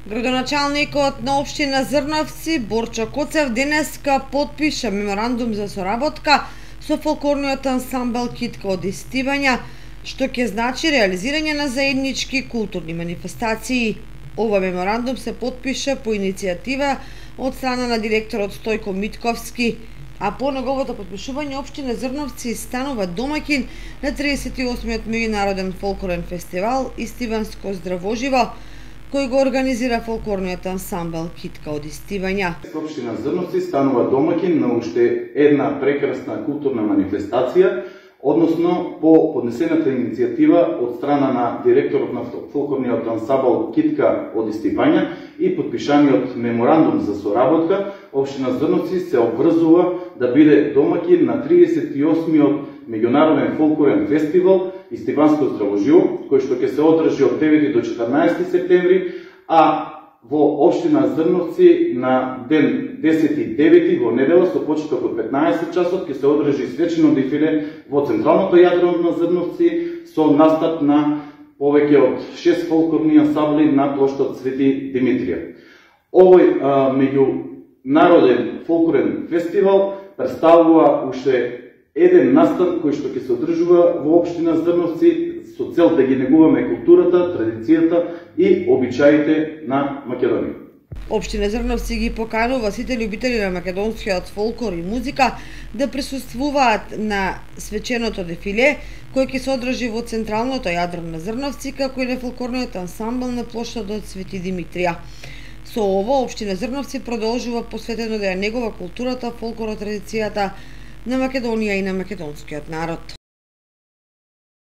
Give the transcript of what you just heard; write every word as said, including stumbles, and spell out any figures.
Градоначалникот на општина Зрновци Борчо Коцев денеска потпиша меморандум за соработка со фолклорниот ансамбл Китка од Истивања, што ќе значи реализирање на заеднички културни манифестации. Ова меморандум се потпиша по иницијатива од страна на директорот Стојко Митковски, а по неговото потпишување општина Зрновци станува домаќин на триесет и осмиот меѓународен фолклорен фестивал Истиванско здравоживо, кој го организира фолклорниот ансамбл Китка од Истивања. Општина Зрновци станува домаќин на уште една прекрасна културна манифестација, односно по поднесената иницијатива од страна на директорот на фолклорниот ансамбл Китка од Истивања и подпишаниот меморандум за соработка, општина Зрновци се обврзува да биде домаќин на триесет и осмиот меѓународен фолклорен фестивал Истиванско здравоживо, кој што ќе се одржи од девети до четрнаесети септември, а во општина Зрновци на ден десети и девети во недела со почеток од петнаесет часот ќе се одржи свечено дефиле во централното јадро на Зрновци со настап на повеќе од шест фолклорни ансамбли на плоштад Свети Димитрија. Овој а, меѓународен фолклорен фестивал представува уште еден настан кој што ќе се одржува во општина Зрновци со цел да ги негуваме културата, традицијата и обичаите на Македонија. Општина Зрновци ги поканува сите љубители на македонскиот фолклор и музика да присуствуваат на свеченото дефиле, кој ќе се одржи во централното јадро на Зрновци, како и на фолклорниот ансамбл на плоштадот Свети Димитрија. Со ова, општина Зрновци продолжува посветено да ја негува културата, фолклорот, традицијата на Македонија и на македонскиот народ.